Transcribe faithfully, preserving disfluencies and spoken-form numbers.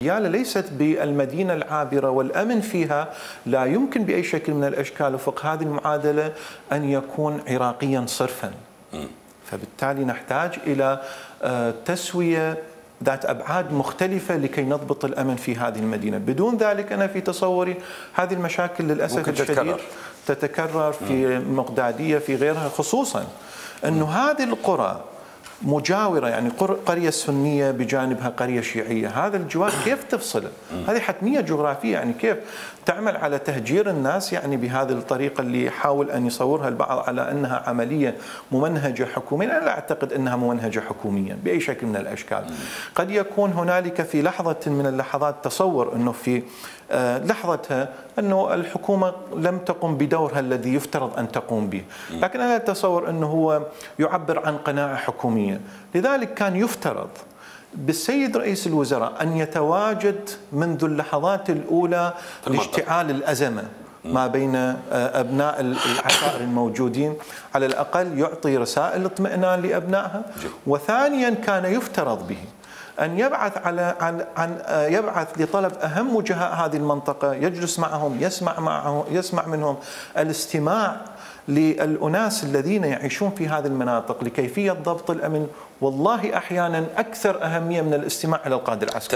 ديالى ليست بالمدينة العابرة والأمن فيها لا يمكن بأي شكل من الأشكال وفق هذه المعادلة أن يكون عراقيا صرفا. فبالتالي نحتاج إلى تسوية ذات أبعاد مختلفة لكي نضبط الأمن في هذه المدينة. بدون ذلك أنا في تصوري هذه المشاكل للأسف الشديد تتكرر, تتكرر في مقدادية في غيرها، خصوصا أنه هذه القرى مجاورة، يعني قرية سنية بجانبها قرية شيعية، هذا الجوار كيف تفصله؟ هذه حتمية جغرافية، يعني كيف تعمل على تهجير الناس يعني بهذه الطريقة اللي يحاول أن يصورها البعض على أنها عملية ممنهجة حكوميا. أنا لا أعتقد أنها ممنهجة حكوميا بأي شكل من الأشكال. قد يكون هنالك في لحظة من اللحظات تصور أنه في لحظتها أنه الحكومة لم تقم بدورها الذي يفترض أن تقوم به، لكن أنا أتصور أنه هو يعبر عن قناعة حكومية. لذلك كان يفترض بالسيد رئيس الوزراء أن يتواجد منذ اللحظات الأولى لاشتعال الأزمة ما بين أبناء العشائر الموجودين، على الأقل يعطي رسائل اطمئنان لأبنائها. وثانيا كان يفترض به أن يبعث على عن عن يبعث لطلب أهم وجهاء هذه المنطقة، يجلس معهم، يسمع معهم، يسمع منهم الاستماع للأناس الذين يعيشون في هذه المناطق لكيفية ضبط الأمن. والله أحيانا أكثر أهمية من الاستماع إلى القادة العسكري.